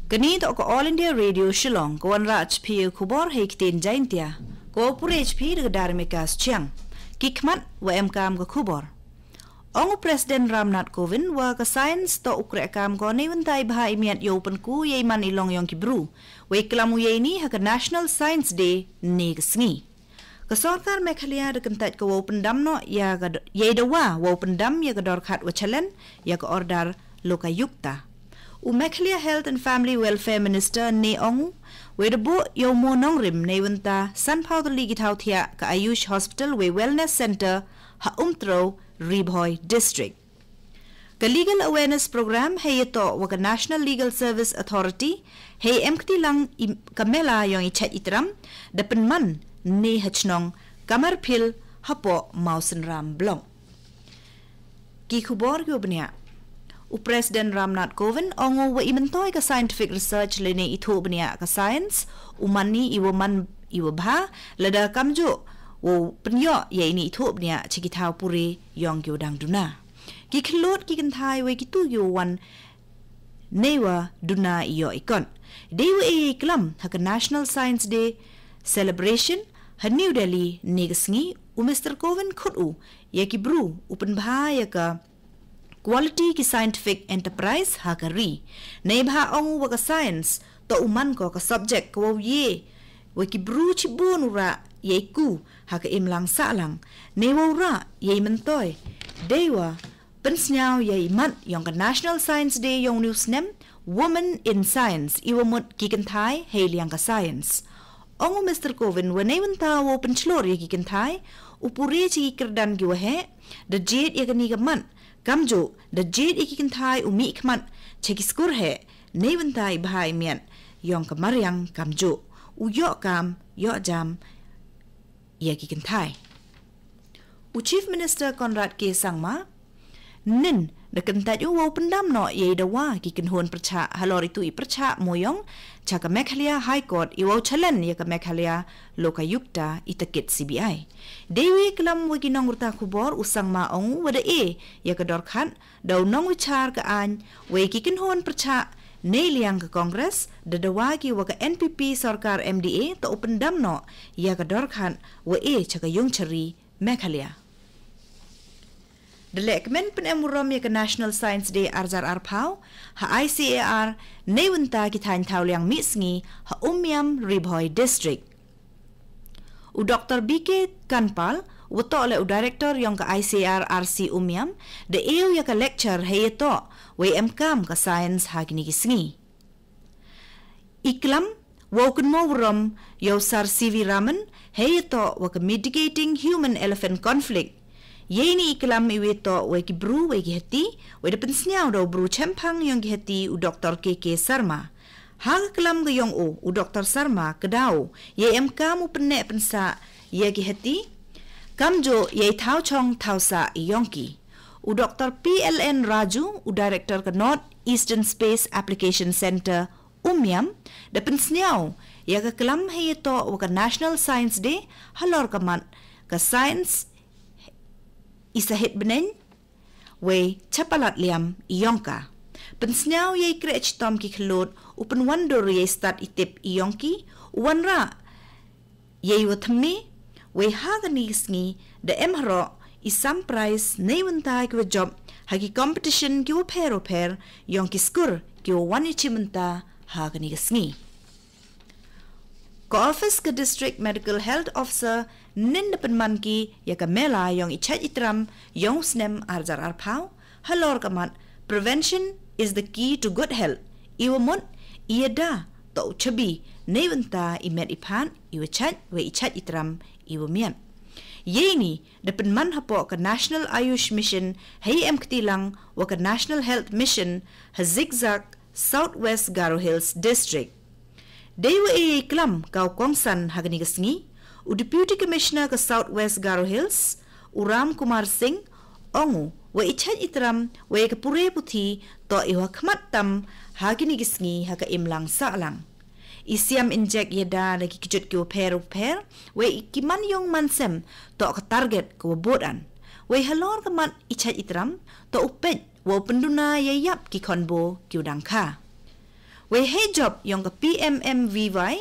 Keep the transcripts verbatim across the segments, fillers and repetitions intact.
Kani toh ka All India Radio Shillong, ka wanrah jpi khubor hei ktien Jaintia, ka wa pure jpi da ka Darmika Chiang. Ki khmat wa em kam ka khubor. Ong u President Ramnath Kovind wa ka science toh u kreh kam ko nei wynta i bha i miat yow pynku yei man i long yong ki bru. Wei klam u yei ni ha ka National Science Day ne ka sngi. Ka sorkar Meghalaya da kyntait ka wow pyndam noh ya ka d- yei dawa wow pyndam ya ka dorkhat wa chalen ya ka order Lokayukta. U Meghalaya Health and Family Welfare Minister ne ong u, wei da buh yow mo nongrim nei wynta sanphaw tylli ki thaw thiah ka Ayush Hospital wei Wellness Center ha Umtrew, Ri Bhoi District. Ka Legal Awareness Program hei yatoh wa ka National Legal Service Authority hei em kti lang i- ka mela yong i chait i tram da pynman ne ha chnong Kamarphil hapoh Mawsynram Block. Ki khubor ki wa bniah. U President Ramnath Kovind ong u wa i myntoi ka scientific research lane i thuh bniah ka science u man ni i wa man i wa bha lada kamjuh wow pynyoh ya i ni i thuh bniah cha ki thaw pure yong ki wa dang duna. Ki khyllood ki kynthai wei ki tu ki wa wan nei wa duna i yoh i kot. Dei wa e i klam ha ka National Science Day Celebration ha New Delhi ne ka sngi u Mister Kovind khut u ya ki bru u pynbha ya ka quality ki scientific enterprise ha ka ri. Nei bha ong u wa ka science toh u man ko ka subject ka wow ye wa ki bru chibun u rah yei ku ha ka imlang sahlang. Nei wow rah yei myntoi dei wa pynsnyaw ya i mat yong ka National Science Day yong u snem, Women in Science, i wa mut ki kynthai hei liang ka science. Ong u Mister Kovind wa nei wynta wow pynchlur ya ki kynthai u pure cha ki kyrdan ki wa heh, da jied ya kani ka mat, kamjuh da jied ya ki kynthai u mih khmat cha ki skur heh nei wynta i bha i miat yong ka mariang kamjuh u yoh kam yoh jam ya ki kynthai. U Chief Minister Conrad K Sangma nin da kyntait u wow pyndam noh yei dawa ki kynhun pyrchah halor i tu i pyrchah moyong cha ka Meghalaya High Court i wow chalen ya ka Meghalaya Lokayukta i takit C B I. Dei wa e klam wa ki nongrta khubor u Sangma ong u wa da e ya ka dorkhat da u nongwichar ka ain wei ki kynhun pyrchah nei liang ka Congress da dawa ki wa ka N P P sorkar M D A toh u pyndam noh ya ka dorkhat wa e cha ka yung chari Meghalaya. Da leh kmen pynem wurom ya ka National Science Day arjar arphaw ha I C A R nei wynta ki thain thaw liang mih sngi ha Umiam, Ri Bhoi District. U Doctor B K Kanpal wa toh le u director yong ka I C A R R C Umiam da ew ya ka lecture hei yatoh wei em kam ka science ha kini ki sngi. I klam wow kynmo wurom yow Sir C V Raman hei yatoh wa ka Mitigating Human Elephant Conflict. Yei ni i klam i wa yatoh wei ki bru wei ki hati wei da pynsnyaw da u bru chemphang yong ki hati u Doctor K K Sarma. Ha ka klam ka yong u u Doctor Sarma ka daw yei em kam u pynneh pynsah ya ki hati kamjuh yei thaw chong thaw sah i yong ki. U Doctor P L N Raju u director ka North Eastern Space Application Center Umiam da pynsnyaw ya ka klam hei yatoh wa ka National Science Day halor ka mat ka science i sahit bneng wei chapalat liam i yong ka. Pynsnyaw yei kreh chitom ki khyllood u pynwandur yei stad i tip i yong ki u wanrah yei wa thymme wei ha kani ka sngi da em haroh i sam prize nei wynta ki wa jop ha ki competition ki wa pher wa pher yong ki skur ki wa wan i chi mynta ha kani ka sngi. Ka office ka District Medical Health Officer nin da pynman ki ya ka mela yong i chait i tram yong u snem arjar arphaw halor ka mat Prevention is the key to good health. I wa mut i yada toh u chabi nei wynta i met i phan i wa chait wei i chait i tram i wa miat. Yei ni da pynman hapoh ka National Ayush Mission hei em kti lang wa ka National Health Mission ha Zikzak, South West Garo Hills District. Dei wa e yei klam ka u kongsan ha kani ka sngi u Deputy Commissioner ka South West Garo Hills u Ram Kumar Singh ong u wa i chait i tram wei ka pure puthi toh i wa khmat tam ha kini ki sngi ha ka imlang sahlang. I siam injek yada da ki kjut ki wa pher wa pher wei ki man yong man sem toh ka target ka wa bud an. Wei halor ka mat i chait i tram toh u peit wa u pynduna ya yap ki khonbo ki wa dang kha. Wei hei jop yong ka P M M V Y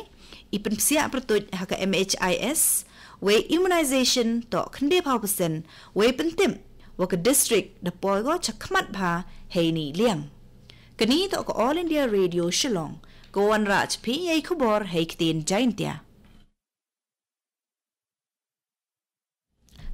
i pynpsiah pyrtuit ha ka M H I S, wei immunization toh khyndai phaw percent, wei pyntip wa ka district da poi ko chakhmat bha hei ni liang. Kani toh ka All India Radio Shillong, ka wanrah chaphi yei khubor hei ktien Jaintia.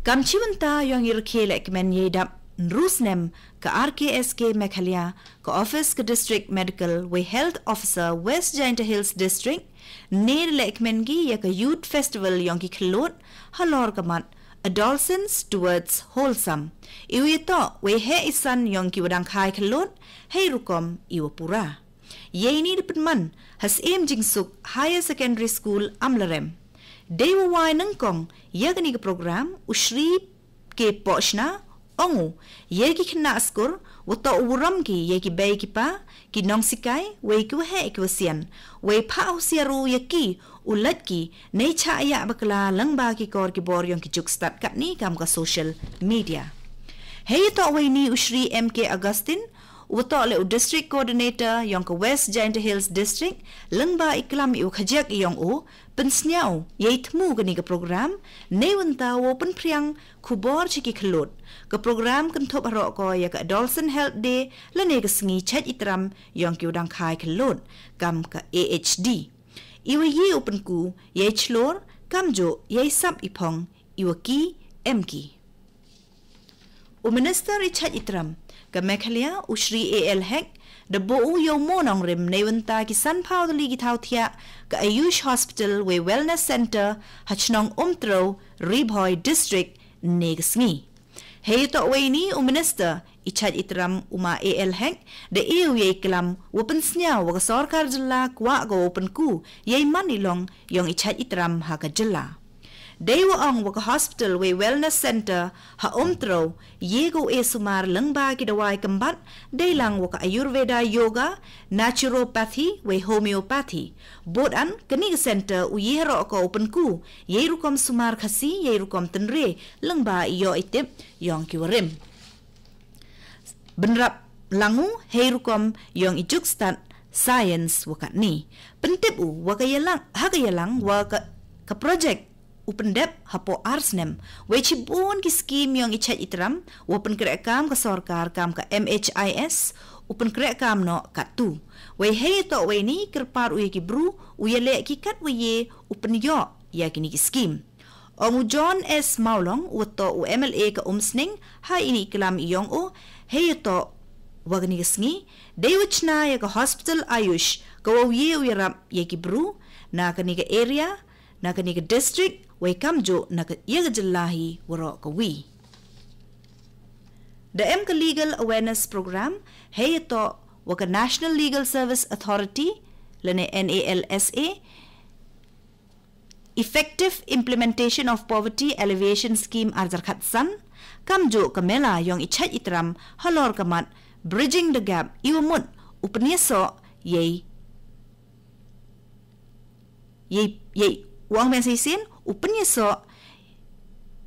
Kam chibynta yong i rkhe lehkmen yei dap nru snem ka R K S K Meghalaya, ka office ka District Medical wei Health Officer West Jaintia Hills District, ne da lehkmen ki ya ka Youth Festival yong ki khlot halor ka mat Adolescence Towards Wholesome. Iwi toh wei heh isan yong ki wadang khai khlot hei rukom iwa pura. Yei ni da pynman ha Syiem Jingsuk Higher Secondary School Amlarem. Dei wa wai nyngkong ya kani ka program u Shri K Pochna, ong u, ya ki khynnah skur wa toh u ram ki ya ki bei ki pa, ki nongsikai, wei ki waheh ki wasian, wei pha u siaru ya ki u lait ki nei cha ya bakla lang ba ki kor ki bor yong ki juk stad katni kam ka social media. Hei toh wei ni u Shri M K Augustine, u toh le u District Coordinator yong ka West Jaintia Hills District, lang ba i klam i u khajak yong u pynsniaw yei thmu kani ka program, nei wynta wow pynphriang khubor cha ki khlot. Ka program kynthup haroh ko ya ka Adolescent Health Day lane ka sngi chait itram yong ki wadang khai khlot, kam ka A H D. Iwa ye u pynku yei chlor, kam jo yei sap i phong, iwa ki em ki. U Minister i chait itram ka Meghalaya u Shri A L Hek, da bo u yow mo nongrim nei wynta ki san phaw tylli ki thaw thiah ka Ayush Hospital wei Wellness Center ha chnong Umtrew, Ri Bhoi District, ne ka sngi. Hei toh wei ni u Minister i chait itram u ma A L Hek, da e u yei klam wa pynsniaw wa ka sorkar jylla kwah ko wow pynku yei man i long yong i chait itram ha ka jylla. Dei wa ong wa ka hospital wei wellness center ha Umtrew, ye ko e sumar lang ba ki dawai kymbat, dei lang wa ka Ayurveda, Yoga, Naturopathy, wei Homeopathy. Bud an, kani ka center u ye haroh ko wow pynku yei rukom sumar Khasi, yei rukom tynre, lang ba i yoh i tip yong ki warim. Bynrap lang u hei rukom yong i juk stad science wa katni. Pyntip u wa ka yalang, ha ka yalang wa ka, ka project u pyndep hapoh ar snem. Wei chibun ki skim yong i chait itram wa pynkreh kam ka sorkar kam ka M H I S u pynkreh kam noh katto. Wei hei toh wei ni kyrpad u ya ki bru u yaleh ki kat wa ye u pynyoh ya kini ki skim. Ong u John S Mawlong, u toh u M L A ka Umsning, ha ini i klam yong u, hei toh wa kani ka sngi, dei wa chna ya ka hospital Ayush, ka wow ye u yarap ya ki bru na kani ka area, na kani ka district, wei kam jo na ka, ya ka jylla hi waroh kawi. Da em ka legal awareness program hei toh wa ka National Legal Service Authority lane N A L S A, Effective Implementation of Poverty Alleviation Scheme ar hajar khatsan, kam jo ka mela yong i chait itram halor ka mat Bridging the Gap, iwa mut u pynyasoh yei, yei, yei, wa ong mensei sin, u pynyasoh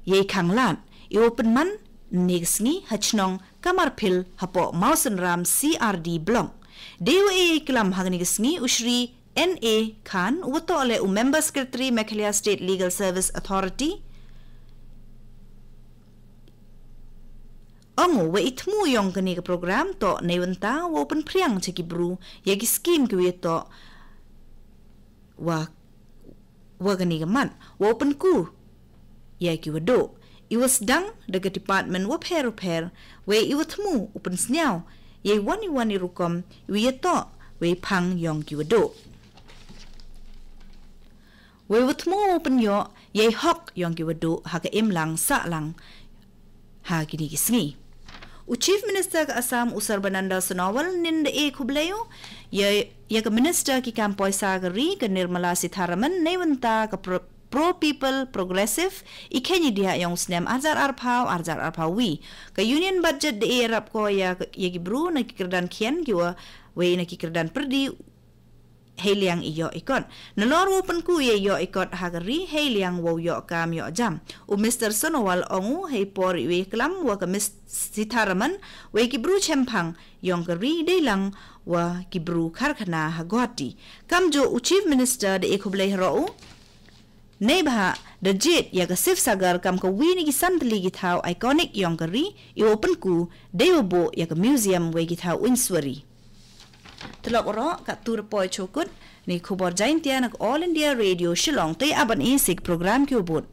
yei khanglad, iwa pynman ne ka sngi ha chnong Kamarphil hapoh Mawsynram C R D Block. Dei wa e yei klam ha kani ka sngi u Shri N A Khan, u toh le u Member Secretary Meghalaya State Legal Service Authority. Ong u wa i thmu yong kani ka program toh nei wynta wow pynphriang cha ki bru ya ki skim kiwa toh wa, wa kani ka mat wow pynku ya kiwa duh. Iwa sdang da ka department wa pher wa pher, wei iwa thmu u pynsniaw yei wan i wan i rukom iwa yatoh wei phang yong kiwa duh. Wei wa thmu u pynyoh yei hok yong kiwa duh ha ka imlang sahlang ha kini ki sngi. U Chief Minister ka Assam u Sarbananda Sonowal nin da e khublei u ya, ya ka Minister ki kam poisa ka ri ka Nirmala Sitharaman nei wynta ka Pro, Pro People Progressive i khein i diah yong u snem ar hajar arphaw, ar hajar arphaw wi. Ka Union Budget da e yarap ko ya, ya ki bru na ki kyrdan khian kiwa, wei na ki kyrdan pyrdi hei liang i ïoh i kot. Nalor wow pynku ïa i ïoh i kot ha ka ri hei liang wow ïoh kam ïoh jam. U Mister Sonowal ong u hei por i wei klam wa ka Miss Sitharaman, wei ki bru chemphang yong ka ri dei lang wa ki bru karkhana ha Guwahati. Kam jo u Chief Minister da e khublei haro u. Nei bha da jied ïa ka Sifsagar kam ka wi na ki san tylli ki thaw iconic yong ka ri, i wow pynku dei wa buh ïa ka museum wei ki thaw uinswari. Tylok ro ka tur poi chokut ni khubor Jaintia na ka All India Radio Shillong te aban i sik program ki ubut.